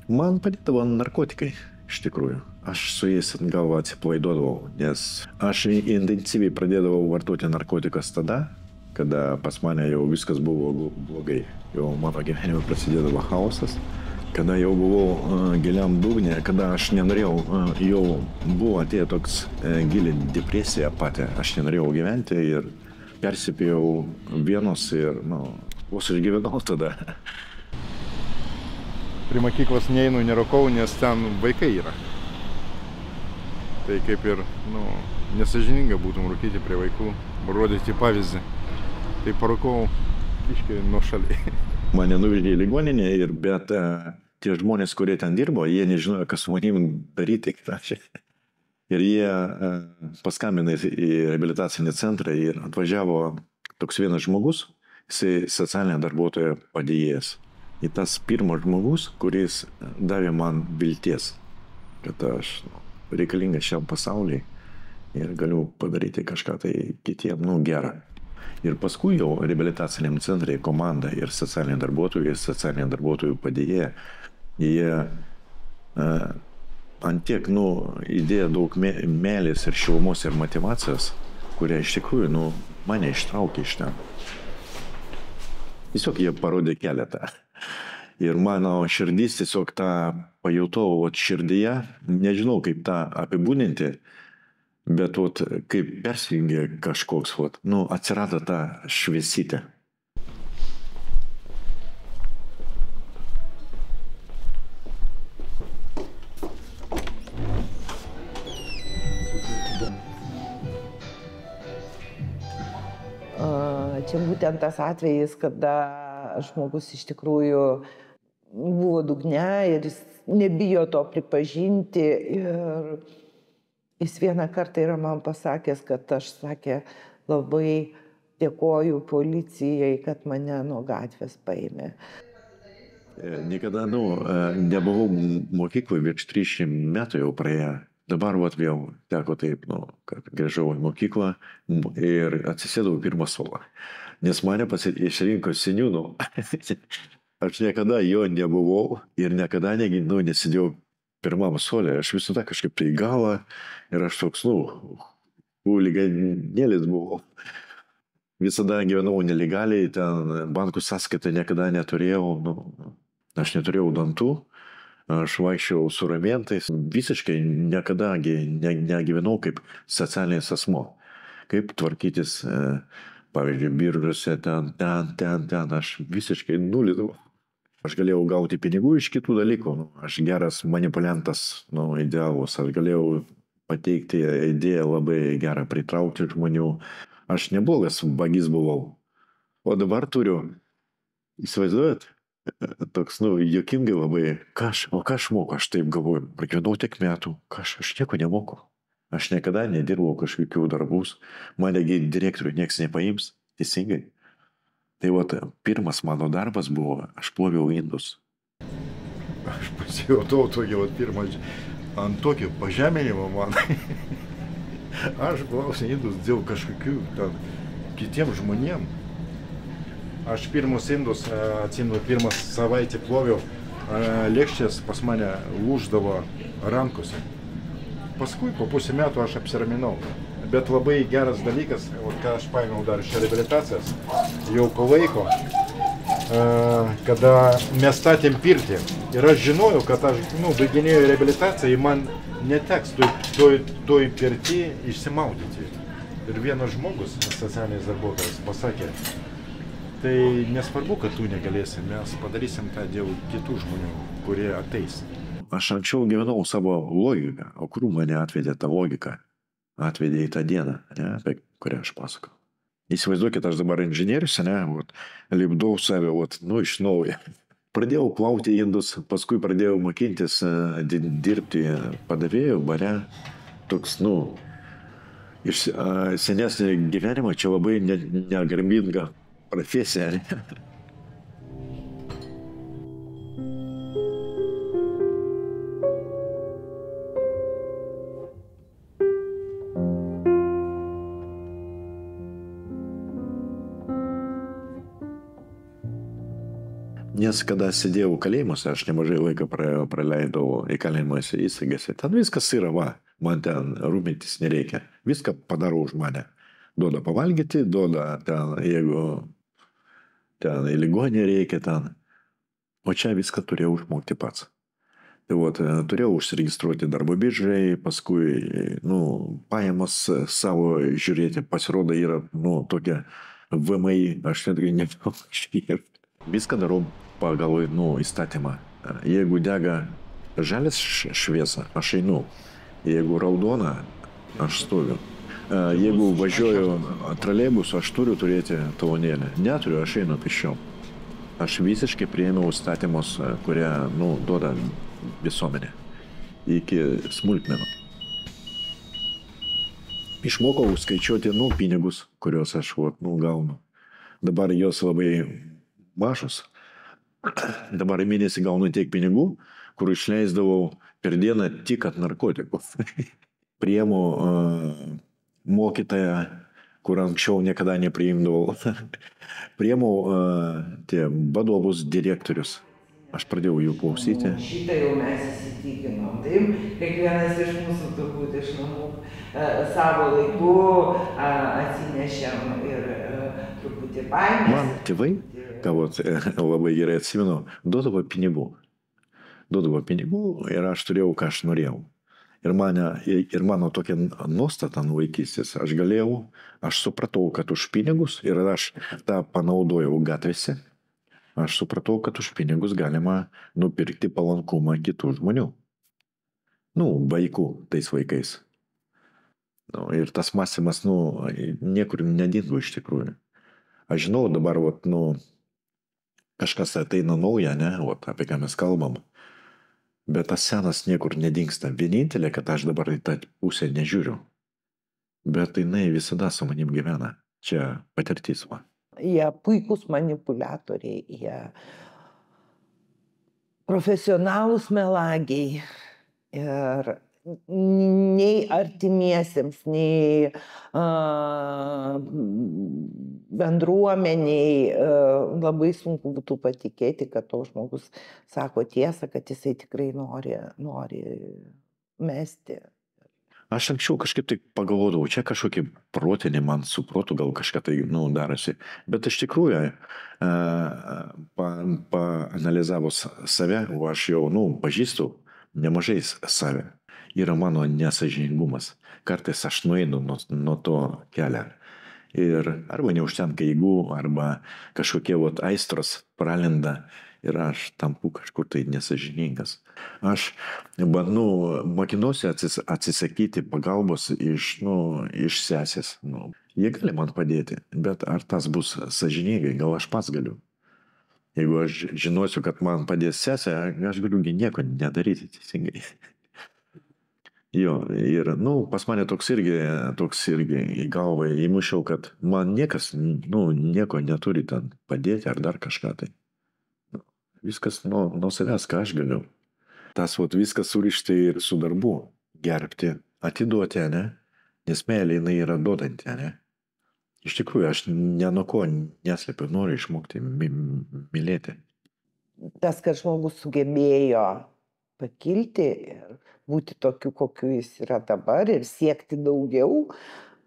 Man padėdavo narkotikai, iš tikrųjų. Aš su jais gal atsipalaiduodavau, nes aš intensyviai pradėdavau vartoti narkotikas tada, kada pas mane jau viskas buvo blogai. Jau mano gyvenime prasidėdavo chaosas, kada jau buvau giliam dugne, kada aš nenorėjau, jau buvo atėję toks gili depresija pati, aš nenorėjau gyventi ir persipėjau vienos ir, vos išgyvenau tada. Prie mokyklos neinu, nerūkau, nes ten vaikai yra. Tai kaip ir, nesažininga būtum rūkyti prie vaikų, rodyti pavyzdį. Tai parūkau biškį nuošaliai. Mane nuvežė į ligoninę, bet tie žmonės, kurie ten dirbo, jie nežinojo, kas su manim daryti. Ir jie paskambino į reabilitacinį centrą ir atvažiavo toks vienas žmogus, jisai socialinė darbuotoja padėjėjas. Ir tas pirmas žmogus, kuris davė man vilties, kad aš reikalingas šiam pasauliui ir galiu padaryti kažką tai kitiem, gerą. Ir paskui jau reabilitaciniam centrai komanda ir socialiniai darbuotojų padėjėja, jie antiek, įdėjo daug meilės ir šilumos ir motivacijos, kurie iš tikrųjų, mane ištraukė iš ten. Tiesiog jie parodė keletą. Ir mano širdis tiesiog tą pajutau širdyje, nežinau kaip tą apibūdinti, bet kaip persijungė kažkoks, atsirado ta šviesytė. Čia būtent tas atvejis, kada žmogus iš tikrųjų buvo dugne ir jis nebijo to pripažinti. Ir jis vieną kartą yra man pasakęs, kad aš, sakė, labai dėkoju policijai, kad mane nuo gatvės paėmė. Niekada, nebuvau mokykloje, virš 300 metų jau praėjo. Dabar vėl teko taip, kad grįžau į mokyklą ir atsisėdau pirmą suolą. Nes mane išrinko seniūnu. Aš niekada jo nebuvau ir niekada nesidėjau pirmam suolė. Aš visada kažkaip tai galą ir aš toks, huliganėlis buvau. Visada gyvenau nelegaliai, ten bankų sąskaitą niekada neturėjau, aš neturėjau dantų. Aš vaikščiau su ramentais, visiškai niekada negyvenau kaip socialinis asmo. Kaip tvarkytis, pavyzdžiui, biržose, ten, aš visiškai nulidavau. Aš galėjau gauti pinigų iš kitų dalykų, aš geras manipuliantas, idealus, aš galėjau pateikti idėją labai gerą, pritraukti žmonių. Aš neblogas vagis buvau. O dabar turiu, įsivaizduojat? Toks, juokingai labai, o ką aš moku, aš taip galvoju, pragyvenau tiek metų, aš nieko nemoku. Aš niekada nedirbau kažkokių darbus, manegi direktorių nieks nepaims, teisingai. Tai pirmas mano darbas buvo, aš ploviau indus. Aš pasijutau tokį pirmą, ant tokio pažeminimo man. Aš ploviau indus dėl kažkokių kitiem žmonėm. Aš pirmus indus, atsimenu, pirmą savaitę ploviau, lėkštės pas mane lūždavo rankose. Paskui po pusę metų aš apsiraminau. Bet labai geras dalykas, ką aš paėmiau dar iš reabilitacijos, jau po laiko, kada mes statėm pirtį. Ir aš žinojau, kad aš, baiginėjau reabilitaciją, man neteks toj pirtį išsimaudyti. Ir vienas žmogus, socialinis darbuotojas, pasakė, tai nesvarbu, kad tu negalėsi, mes padarysim tą dėl kitų žmonių, kurie ateis. Aš anksčiau gyvenau savo logiką, o kur mane atvedė ta logika? Atvedė į tą dieną, apie kurią aš pasakau. Įsivaizduokit, aš dabar inžinierius, lipdau save, iš naujo. Pradėjau plauti indus, paskui pradėjau mokintis dirbti padavėjų bare. Toks, iš senesnio gyvenimo čia labai negarbinga profesija. Nes kada sėdėjau kalėjimuose, aš nemažai laiko praleidau įkalinimosi įstaigose. Ten viskas yra, va, man ten rūpintis nereikia. Viską padaro už mane. Duoda pavalgyti, duoda ten, jeigu ten į ligonį reikia ten. O čia viską turėjau išmokti pats. Tai vat, turėjau užsiregistruoti darbo biržai, paskui, pajamas savo žiūrėti, pasirodo yra, tokia VMI, aš netgi nežinau, viską darau pagal, įstatymą. Jeigu dega žalias šviesa, aš einu. Jeigu raudona, aš stoviu. Jeigu važiuoju troleibusu, aš turiu turėti talonėlį. Neturiu, aš einu pėsčiom. Aš visiškai priėmiau įstatymus, kurie, duoda visuomenė. Iki smulkmenų. Išmokau skaičiuoti, pinigus, kuriuos aš, gaunu. Dabar jos labai mažos. Dabar į mėnesį gaunu tiek pinigų, kur išleisdavau per dieną tik at narkotikų. Priimu mokytoją, kur anksčiau niekada nepriimdavau. Priimu vadovus, direktorius. Aš pradėjau jų klausyti. Šitą jau mes įsitikinom. Taip, kiekvienas iš mūsų turbūt iš namų savo laiku atsinešėm ir truputį baimės. Man tėvai, labai gerai atsimenu, duodavo pinigų. Duodavo pinigų ir aš turėjau, ką aš norėjau. Ir mano tokia nuostata nuo vaikystės. Aš supratau, kad už pinigus, ir aš tą panaudojau gatvėse, aš supratau, kad už pinigus galima nupirkti palankumą kitų žmonių. Vaikų tais vaikais. Ir tas mąstymas, niekur nedingo iš tikrųjų. Aš žinau dabar, kažkas ateina nauja, apie ką mes kalbam. Bet tas senas niekur nedingsta. Vienintelė, kad aš dabar į tą pusę nežiūriu. Bet jinai visada su manim gyvena. Čia patirtis. Jie puikūs manipuliatoriai, jie profesionalūs melagiai. Ir nei artimiesiems, nei bendruomeniai labai sunku būtų patikėti, kad toks žmogus sako tiesą, kad jisai tikrai nori mesti. Aš anksčiau kažkaip tai pagalvodavau, čia kažkokie protinį man su protu gal kažką tai darosi. Bet iš tikrųjų, paanalizavus save, aš jau pažįstu nemažai save. Yra mano nesąžiningumas. Kartais aš nueinu nuo to kelio. Ir arba neužtenka jėgų, arba kažkokie aistros pralenda ir aš tampu kažkur tai nesąžiningas. Aš mokinuosi atsisakyti pagalbos iš sesės. Jie gali man padėti, bet ar tas bus sąžiningai, gal aš pats galiu. Jeigu aš žinosiu, kad man padės sesė, aš galiu nieko nedaryti teisingai. Jo, ir, pas mane toks irgi į galvą įmušiau, kad man niekas, nieko neturi ten padėti ar dar kažką tai. Viskas nuo savęs, ką aš galiu. Tas viskas surišti ir su darbu, gerbti, atiduoti, nes meilė jinai yra duodanti, Iš tikrųjų, aš nuo ko neslepiu, noriu išmokti mylėti. Tas, kad žmogus sugebėjo pakilti ir būti tokiu, kokiu jis yra dabar ir siekti daugiau,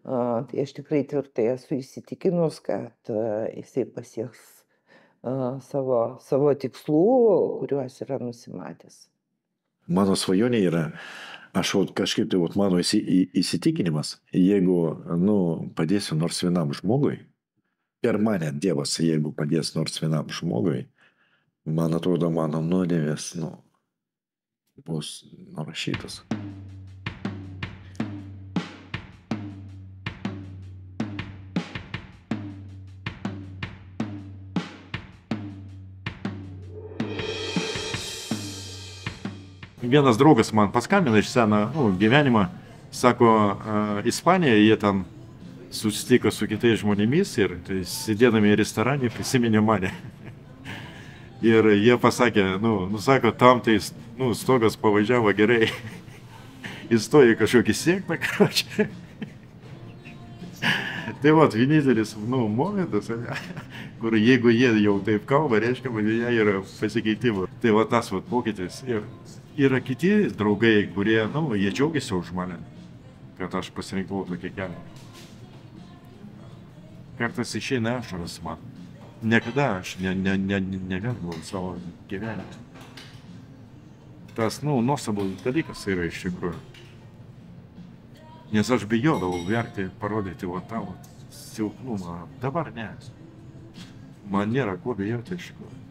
tai aš tikrai tvirtai esu įsitikinus, kad jisai pasieks savo tikslų, kuriuos yra nusimatęs. Mano svajonė yra, kažkaip tai mano įsitikinimas, jeigu padėsiu nors vienam žmogui, per mane Dievas, jeigu padės nors vienam žmogui, man atrodo, mano nuodėmės bus nurašytas. Vienas draugas man paskambino iš seno gyvenimą, sako, Ispanijoje jie ten susitiko su kitais žmonėmis ir sėdėdami restorane prisiminė mane. Ir jie pasakė, sako, tam tai, stogas pavažiavo gerai, įstojo į kažkokį sėkmę, Tai va, vienintelis, momentas, kur jeigu jie jau taip kalba, reiškia, kad jie yra pasikeitimų. Tai va tas va pokytis. Ir yra kiti draugai, kurie, jie džiaugiasi už mane, kad aš pasirinkau tokį kelią. Kartais išeina ašaras man. Niekada aš nevergau savo gyvenimą. Tas, nuostabus dalykas yra iš tikrųjų. Nes aš bijodavau verkti, parodyti va tavo silpnumą. Dabar ne. Man nėra ko bijoti iš tikrųjų.